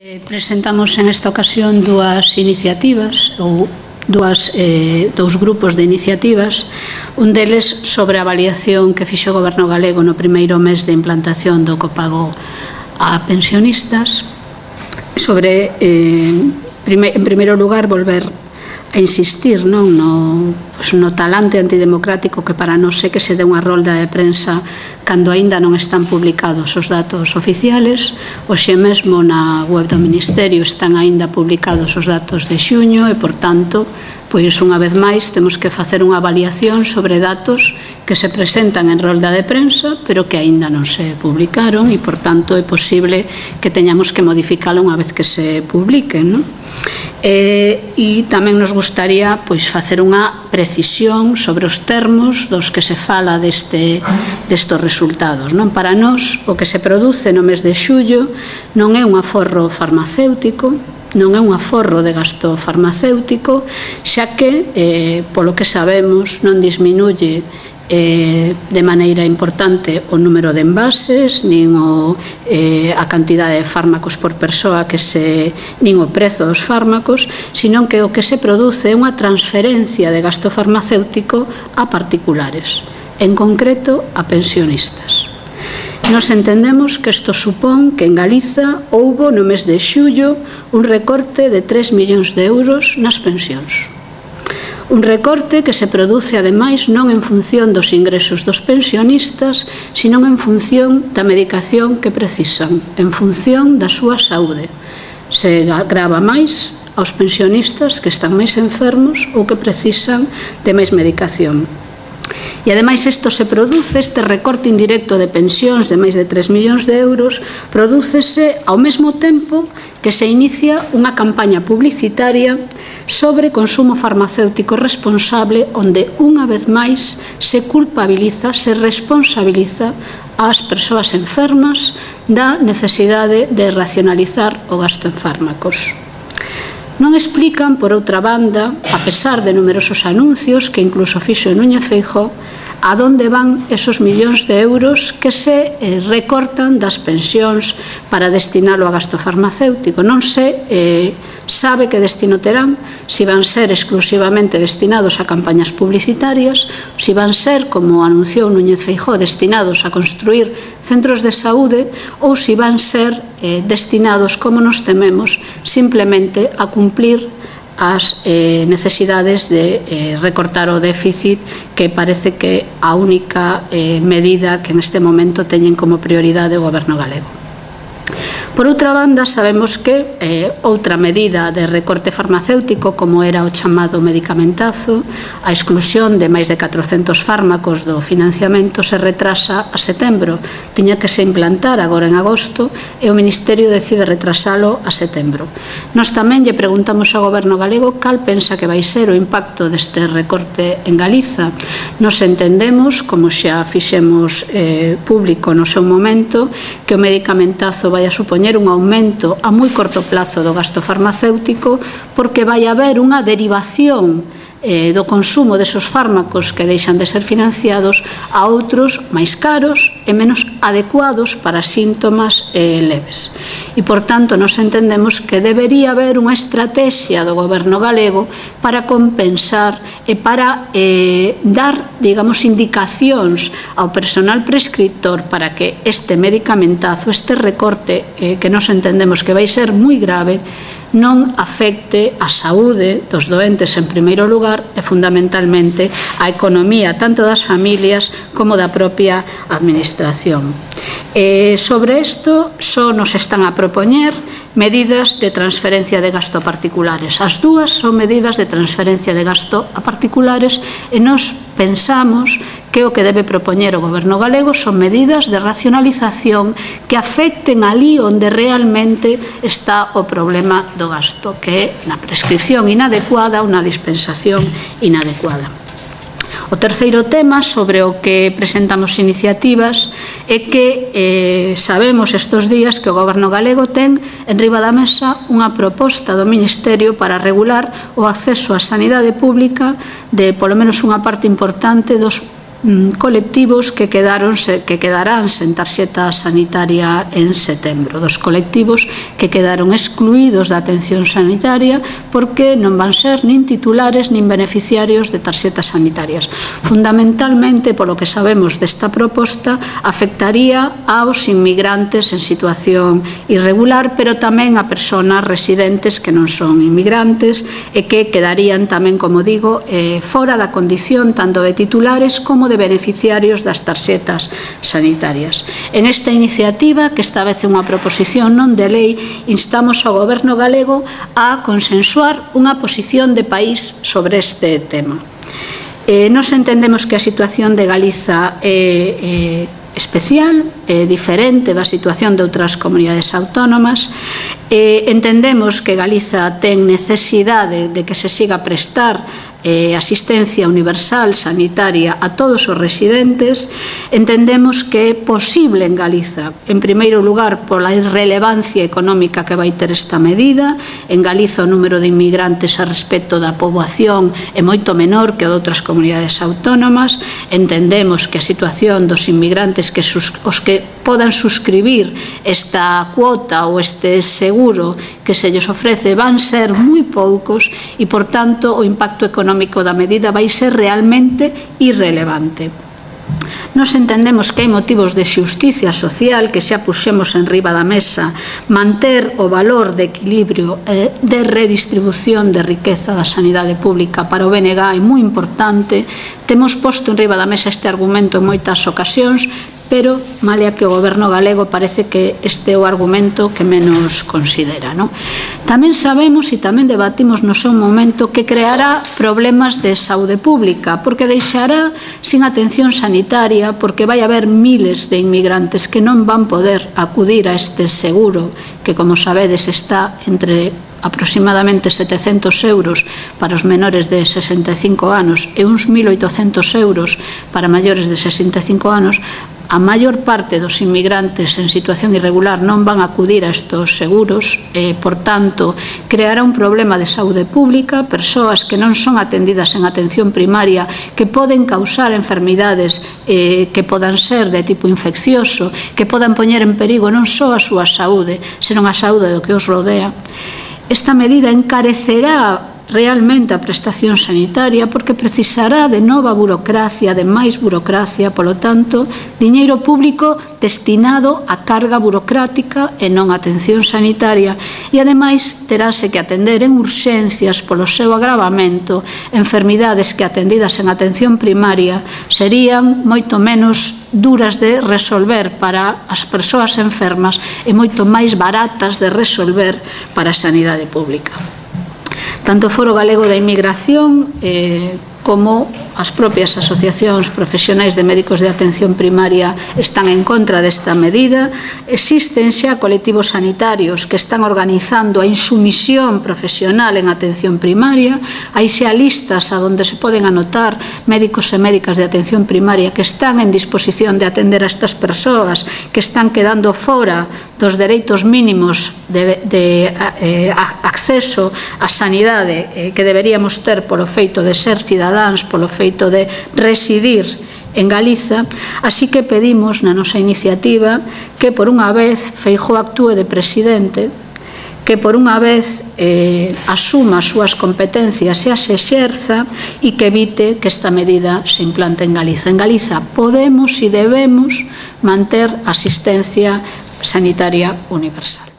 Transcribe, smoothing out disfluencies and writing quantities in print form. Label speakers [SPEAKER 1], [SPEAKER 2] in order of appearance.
[SPEAKER 1] Presentamos en esta ocasión dúas iniciativas ou dous grupos de iniciativas, un deles sobre a avaliación que fixo o Goberno galego no primeiro mes de implantación do copago a pensionistas, sobre, en primeiro lugar, volver a insistir no talante antidemocrático que para nós é que se dé unha rolda de prensa cando aínda non están publicados os datos oficiales. Hoxe mesmo na web do Ministerio están aínda publicados os datos de xuño e, por tanto, pois unha vez máis temos que facer unha avaliación sobre datos que se presentan en rolda de prensa pero que aínda non se publicaron e, por tanto, é posible que teñamos que modificalo unha vez que se publiquen, non? E tamén nos gustaría facer unha precisión sobre os termos dos que se fala destes resultados. Para nós, o que se produce no mes de xullo non é un aforro farmacéutico, non é un aforro de gasto farmacéutico, xa que, polo que sabemos, non disminuye de maneira importante o número de envases, nin a cantidade de fármacos por persoa, nin o prezo dos fármacos, sino que o que se produce é unha transferencia de gasto farmacéutico a particulares, en concreto a pensionistas. Nos entendemos que isto supón que en Galiza houbo no mes de xullo un recorte de 3 millóns de euros nas pensións. Un recorte que se produce, ademais, non en función dos ingresos dos pensionistas, sino en función da medicación que precisan, en función da súa saúde. Se grava máis aos pensionistas que están máis enfermos ou que precisan de máis medicación. E, ademais, isto se produce, este recorte indirecto de pensións de máis de 3 millóns de euros, prodúcese ao mesmo tempo que se inicia unha campaña publicitaria sobre consumo farmacéutico responsable, onde unha vez máis se culpabiliza, se responsabiliza ás persoas enfermas da necesidade de racionalizar o gasto en fármacos. Non explican, por outra banda, a pesar de numerosos anuncios que incluso fixo Núñez Feijóo, a donde van esos millóns de euros que se recortan das pensións para destinalo a gasto farmacéutico. Non se sabe que destino terán, se van ser exclusivamente destinados a campañas publicitarias, se van ser, como anunciou Núñez Feijóo, destinados a construir centros de saúde ou se van ser destinados, como nos tememos, simplemente a cumplir as necesidades de recortar o déficit, que parece que a única medida que neste momento teñen como prioridade o Goberno galego. Por outra banda, sabemos que outra medida de recorte farmacéutico, como era o chamado medicamentazo, a exclusión de máis de 400 fármacos do financiamento, se retrasa a setembro. Tiña que se implantar agora en agosto e o Ministerio decide retrasalo a setembro. Nós tamén lle preguntamos ao Goberno galego cal pensa que vai ser o impacto deste recorte en Galiza. Nos entendemos, como xa fixemos público no seu momento, que o medicamentazo vai a supoñer un aumento a moi corto plazo do gasto farmacéutico, porque vai haber unha derivación do consumo desos fármacos que deixan de ser financiados a outros máis caros e menos adecuados para síntomas leves. E, por tanto, nos entendemos que debería haber unha estrategia do Goberno galego para compensar e para dar, digamos, indicacións ao personal prescriptor para que este medicamentazo, este recorte que nos entendemos que vai ser moi grave, non afecte a saúde dos doentes en primeiro lugar e fundamentalmente a economía tanto das familias como da propia administración. Sobre isto só nos están a propoñer medidas de transferencia de gasto a particulares. As dúas son medidas de transferencia de gasto a particulares e nós pensamos que o que debe propoñer o Goberno galego son medidas de racionalización que afecten ali onde realmente está o problema do gasto, que é na prescripción inadecuada ou na dispensación inadecuada. O terceiro tema sobre o que presentamos iniciativas é que sabemos estes días que o Goberno galego ten enriba da mesa unha proposta do Ministerio para regular o acceso á sanidade pública de polo menos unha parte importante dos colectivos que quedarán sen tarxeta sanitaria en setembro, dos colectivos que quedaron excluídos da atención sanitaria porque non van ser nin titulares nin beneficiarios de tarxetas sanitarias. Fundamentalmente, polo que sabemos desta proposta, afectaría aos inmigrantes en situación irregular, pero tamén a persoas residentes que non son inmigrantes e que quedarían tamén, como digo, fora da condición tanto de titulares como de beneficiarios das tarxetas sanitarias. En esta iniciativa, que esta vez é unha proposición non de lei, instamos ao Goberno galego a consensuar unha posición de país sobre este tema. Nos entendemos que a situación de Galiza é especial, diferente da situación de outras comunidades autónomas. Entendemos que Galiza ten necesidade de que se siga a prestar asistencia universal sanitaria a todos os residentes. Entendemos que é posible en Galiza, en primeiro lugar, pola irrelevancia económica que vai ter esta medida. En Galiza o número de inmigrantes a respecto da poboación é moito menor que o de outras comunidades autónomas. Entendemos que a situación dos inmigrantes os que podan suscribir esta cuota ou este seguro que se lles ofrece van ser moi poucos e, por tanto, o impacto económico da medida vai ser realmente irrelevante. Nos entendemos que hai motivos de xusticia social que xa puxemos en riba da mesa. Manter o valor de equilibrio de redistribución de riqueza da sanidade pública para o BNG é moi importante. Temos posto en riba da mesa este argumento en moitas ocasións, pero malia que o Goberno galego parece que este é o argumento que menos considera. Tamén sabemos e tamén debatimos no seu momento que creará problemas de saúde pública, porque deixará sin atención sanitaria, porque vai haber miles de inmigrantes que non van poder acudir a este seguro, que, como sabedes, está entre aproximadamente 700 euros para os menores de 65 anos e uns 1.800 euros para maiores de 65 anos. A maior parte dos inmigrantes en situación irregular non van a acudir a estes seguros, por tanto, creará un problema de saúde pública, persoas que non son atendidas en atención primaria, que poden causar enfermidades que podan ser de tipo infeccioso, que podan poñer en perigo non só a súa saúde, senón a saúde do que os rodea. Esta medida encarecerá realmente a prestación sanitaria porque precisará de nova burocracia, de máis burocracia, polo tanto, diñeiro público destinado a carga burocrática e non a atención sanitaria, e ademais terase que atender en urxencias polo seu agravamento enfermidades que atendidas en atención primaria serían moito menos duras de resolver para as persoas enfermas e moito máis baratas de resolver para a sanidade pública. Tanto o Foro Galego da Inmigración como as propias asociacións profesionais de médicos de atención primaria están en contra desta medida. Existen xa colectivos sanitarios que están organizando a insumisión profesional en atención primaria. Hai xa listas onde se poden anotar médicos e médicas de atención primaria que están en disposición de atender a estas persoas que están quedando fora dos dereitos mínimos de acceso á sanidade que deberíamos ter polo feito de ser cidadáns, polo feito de residir en Galiza. Así que pedimos na nosa iniciativa que por unha vez Feijóo actúe de presidente, que por unha vez asuma as súas competencias e as exerza e que evite que esta medida se implante en Galiza. En Galiza podemos e debemos manter asistencia sanitaria universal.